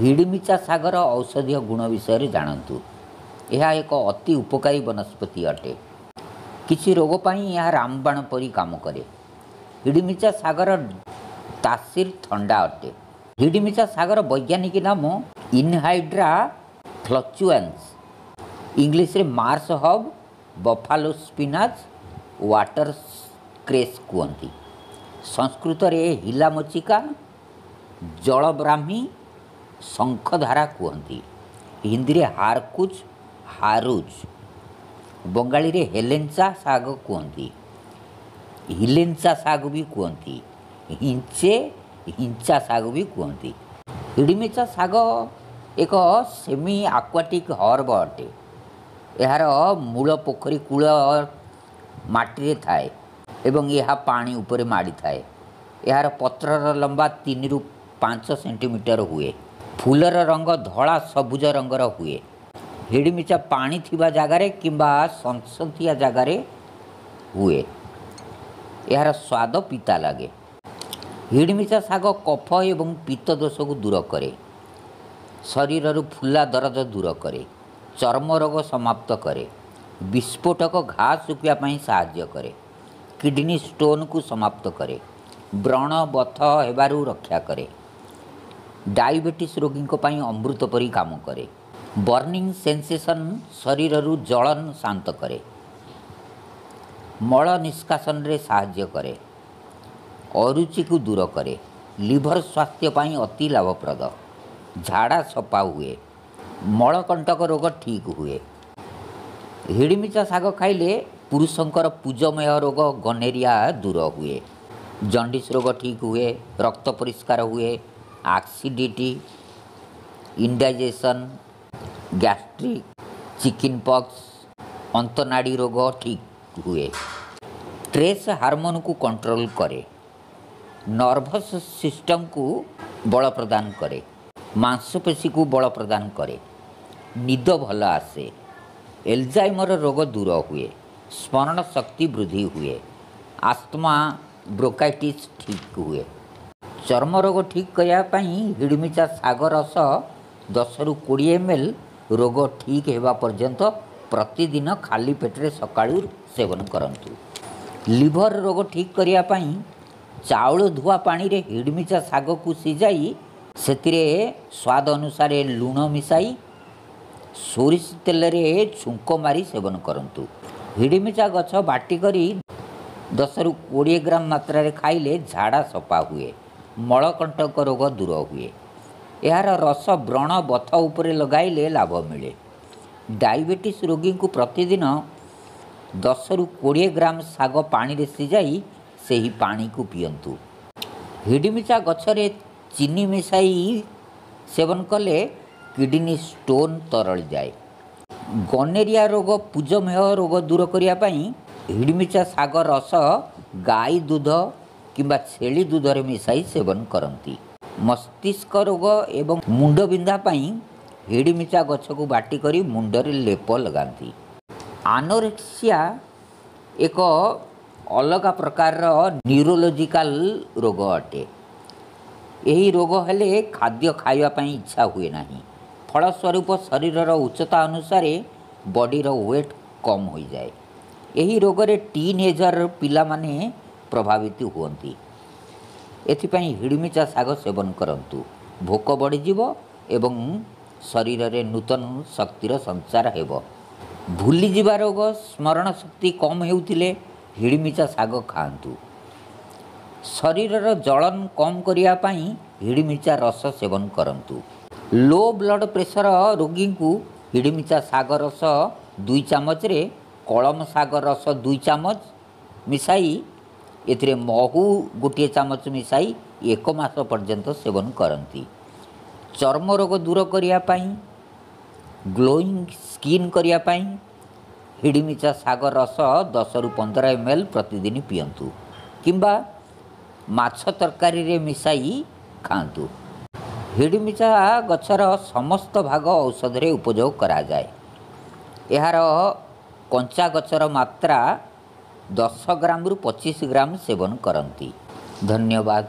ହିଡ଼ିମିଚା ଶାଗର ଔଷଧୀୟ ଗୁଣ ବିଷୟରେ ଜାଣନ୍ତୁ। ଏହା ଏକ ଅତି ଉପକାରୀ ବନସ୍ପତି ଅଟେ। କିଛି ରୋଗ ପାଇଁ ଏହା ରାମବାଣ ପରି କାମ କରେ। ହିଡ଼ିମିଚା ଶାଗର ତାସିର ଥଣ୍ଡା ଅଟେ। ହିଡ଼ିମିଚା ଶାଗର ବୈଜ୍ଞାନିକ ନାମ ଇନହାଇଡ୍ରା ଫ୍ଲକ୍ଚୁଆନ୍ସ। ଇଂଲିଶରେ marsh herb, buffalo spinach, water cress କୁହନ୍ତି। ସଂସ୍କୃତରେ ହିଲାମଚିକା, ଜଳବ୍ରାହ୍ମୀ, ଶଙ୍ଖଧାରା କୁହନ୍ତି। ହିନ୍ଦୀରେ ହାରକୁଚ, ହାରୁଜ, ବଙ୍ଗାଳୀରେ ହେଲେଞ୍ଚା ଶାଗ କୁହନ୍ତି, ହିଲେଞ୍ଚା ଶାଗ ବି କୁହନ୍ତି, ହିଞ୍ଚେ ହିଞ୍ଚା ଶାଗ ବି କୁହନ୍ତି। ହିଡ଼ିମିଚା ଶାଗ ଏକ ସେମି ଆକ୍ୱାଟିକ୍ ହର୍ବ ଅଟେ। ଏହାର ମୂଳ ପୋଖରୀ କୂଳ ମାଟିରେ ଥାଏ ଏବଂ ଏହା ପାଣି ଉପରେ ମାଡ଼ିଥାଏ। ଏହାର ପତ୍ରର ଲମ୍ବା 3ରୁ 5 ସେଣ୍ଟିମିଟର ହୁଏ। ଫୁଲର ରଙ୍ଗ ଧଳା ସବୁଜ ରଙ୍ଗର ହୁଏ। ହିଡ଼ିମିଚା ପାଣି ଥିବା ଜାଗାରେ କିମ୍ବା ସନ୍ତସନ୍ତିଆ ଜାଗାରେ ହୁଏ। ଏହାର ସ୍ୱାଦ ପିତା ଲାଗେ। ହିଡ଼ିମିଚା ଶାଗ କଫ ଏବଂ ପିତ୍ତ ଦୋଷକୁ ଦୂର କରେ। ଶରୀରରୁ ଫୁଲା ଦରଜ ଦୂର କରେ। ଚର୍ମ ରୋଗ ସମାପ୍ତ କରେ। ବିସ୍ଫୋଟକ ଘା ଶୁଖିବା ପାଇଁ ସାହାଯ୍ୟ କରେ। କିଡ଼ନୀ ଷ୍ଟୋନକୁ ସମାପ୍ତ କରେ। ବ୍ରଣ ବଥ ହେବାରୁ ରକ୍ଷା କରେ। ଡାଇବେଟିସ୍ ରୋଗୀଙ୍କ ପାଇଁ ଅମୃତ ପରି କାମ କରେ। ବର୍ଣ୍ଣିଂ ସେନ୍ସେସନ୍, ଶରୀରରୁ ଜଳନ ଶାନ୍ତ କରେ। ମଳ ନିଷ୍କାସନରେ ସାହାଯ୍ୟ କରେ। ଅରୁଚିକୁ ଦୂର କରେ। ଲିଭର ସ୍ୱାସ୍ଥ୍ୟ ପାଇଁ ଅତି ଲାଭପ୍ରଦ। ଝାଡ଼ା ସଫା ହୁଏ। ମଳକଣ୍ଟକ ରୋଗ ଠିକ୍ ହୁଏ। ହିଡ଼ିମିଚା ଶାଗ ଖାଇଲେ ପୁରୁଷଙ୍କର ପୂଜମେହ ରୋଗ, ଗନେରିଆ ଦୂର ହୁଏ। ଜଣ୍ଡିସ୍ ରୋଗ ଠିକ୍ ହୁଏ। ରକ୍ତ ପରିଷ୍କାର ହୁଏ। Acidity, indigestion, gastric, chicken pox, ଅନ୍ତନାଡ଼ୀ ରୋଗ ଠିକ୍ ହୁଏ। ଷ୍ଟ୍ରେସ୍ ହାରମୋନକୁ କଣ୍ଟ୍ରୋଲ କରେ। ନର୍ଭସ୍ ସିଷ୍ଟମକୁ ବଳ ପ୍ରଦାନ କରେ। ମାଂସପେଶୀକୁ ବଳ ପ୍ରଦାନ କରେ। ନିଦ ଭଲ ଆସେ। ଏଲଜାଇମର ରୋଗ ଦୂର ହୁଏ। ସ୍ମରଣ ଶକ୍ତି ବୃଦ୍ଧି ହୁଏ। ଆସ୍ଥମା, ବ୍ରୋଙ୍କାଇଟିସ୍ ଠିକ୍ ହୁଏ। ଚର୍ମ ରୋଗ ଠିକ୍ କରିବା ପାଇଁ ହିଡ଼ିମିଚା ଶାଗ ରସ 10ରୁ 20 ଏମ୍ ଏଲ୍ ରୋଗ ଠିକ୍ ହେବା ପର୍ଯ୍ୟନ୍ତ ପ୍ରତିଦିନ ଖାଲି ପେଟରେ ସକାଳୁ ସେବନ କରନ୍ତୁ। ଲିଭର ରୋଗ ଠିକ୍ କରିବା ପାଇଁ ଚାଉଳ ଧୁଆ ପାଣିରେ ହିଡ଼ିମିଚା ଶାଗକୁ ସିଝାଇ ସେଥିରେ ସ୍ୱାଦ ଅନୁସାରେ ଲୁଣ ମିଶାଇ ସୋରିଷ ତେଲରେ ଛୁଙ୍କ ମାରି ସେବନ କରନ୍ତୁ। ହିଡ଼ିମିଚା ଗଛ ବାଟି କରି 10ରୁ 20 ଗ୍ରାମ ମାତ୍ରାରେ ଖାଇଲେ ଝାଡ଼ା ସଫା ହୁଏ। ମଳକଣ୍ଟକ ରୋଗ ଦୂର ହୁଏ। ଏହାର ରସ ବ୍ରଣ ବଥ ଉପରେ ଲଗାଇଲେ ଲାଭ ମିଳେ। ଡାଇବେଟିସ୍ ରୋଗୀଙ୍କୁ ପ୍ରତିଦିନ 10ରୁ 20 ଗ୍ରାମ ଶାଗ ପାଣିରେ ସିଝାଇ ସେହି ପାଣିକୁ ପିଅନ୍ତୁ। ହିଡ଼ିମିଚା ଗଛରେ ଚିନି ମିଶାଇ ସେବନ କଲେ କିଡ଼ନୀ ଷ୍ଟୋନ୍ ତରଳିଯାଏ। ଗନେରିଆ ରୋଗ, ପୂଜମେହ ରୋଗ ଦୂର କରିବା ପାଇଁ ହିଡ଼ିମିଚା ଶାଗ ରସ ଗାଈ ଦୁଧ କିମ୍ବା ଛେଳି ଦୁଧରେ ମିଶାଇ ସେବନ କରନ୍ତି। ମସ୍ତିଷ୍କ ରୋଗ ଏବଂ ମୁଣ୍ଡବିନ୍ଧା ପାଇଁ ହିଡ଼ିମିଚା ଗଛକୁ ବାଟି କରି ମୁଣ୍ଡରେ ଲେପ ଲଗାନ୍ତି। ଆନୋରେକ୍ସିଆ ଏକ ଅଲଗା ପ୍ରକାରର ନ୍ୟୁରୋଲୋଜିକାଲ ରୋଗ ଅଟେ। ଏହି ରୋଗ ହେଲେ ଖାଦ୍ୟ ଖାଇବା ପାଇଁ ଇଚ୍ଛା ହୁଏ ନାହିଁ। ଫଳସ୍ୱରୂପ ଶରୀରର ଉଚ୍ଚତା ଅନୁସାରେ ବଡ଼ିର ୱେଟ୍ କମ୍ ହୋଇଯାଏ। ଏହି ରୋଗରେ ଟିନ୍ ଏଜର ପିଲାମାନେ ପ୍ରଭାବିତ ହୁଅନ୍ତି। ଏଥିପାଇଁ ହିଡ଼ିମିଚା ଶାଗ ସେବନ କରନ୍ତୁ। ଭୋକ ବଢ଼ିଯିବ ଏବଂ ଶରୀରରେ ନୂତନ ଶକ୍ତିର ସଞ୍ଚାର ହେବ। ଭୁଲିଯିବା ରୋଗ, ସ୍ମରଣ ଶକ୍ତି କମ୍ ହେଉଥିଲେ ହିଡ଼ିମିଚା ଶାଗ ଖାଆନ୍ତୁ। ଶରୀରର ଜଳନ କମ୍ କରିବା ପାଇଁ ହିଡ଼ିମିଚା ରସ ସେବନ କରନ୍ତୁ। ଲୋ ବ୍ଲଡ଼ ପ୍ରେସର ରୋଗୀଙ୍କୁ ହିଡ଼ିମିଚା ଶାଗ ରସ 2 ଚାମଚରେ କଳମ ଶାଗ ରସ 2 ଚାମଚ ମିଶାଇ ଏଥିରେ ମହୁ 1 ଚାମଚ ମିଶାଇ 1 ମାସ ପର୍ଯ୍ୟନ୍ତ ସେବନ କରନ୍ତି। ଚର୍ମ ରୋଗ ଦୂର କରିବା ପାଇଁ, ଗ୍ଲୋଇଂ ସ୍କିନ୍ କରିବା ପାଇଁ ହିଡ଼ିମିଚା ଶାଗ ରସ 10ରୁ 15 ଏମ୍ ଏଲ୍ ପ୍ରତିଦିନ ପିଅନ୍ତୁ କିମ୍ବା ମାଛ ତରକାରୀରେ ମିଶାଇ ଖାଆନ୍ତୁ। ହିଡ଼ିମିଚା ଗଛର ସମସ୍ତ ଭାଗ ଔଷଧରେ ଉପଯୋଗ କରାଯାଏ। ଏହାର କଞ୍ଚା ଗଛର ମାତ୍ରା 10 ଗ୍ରାମରୁ 25 ଗ୍ରାମ ସେବନ କରନ୍ତି। ଧନ୍ୟବାଦ।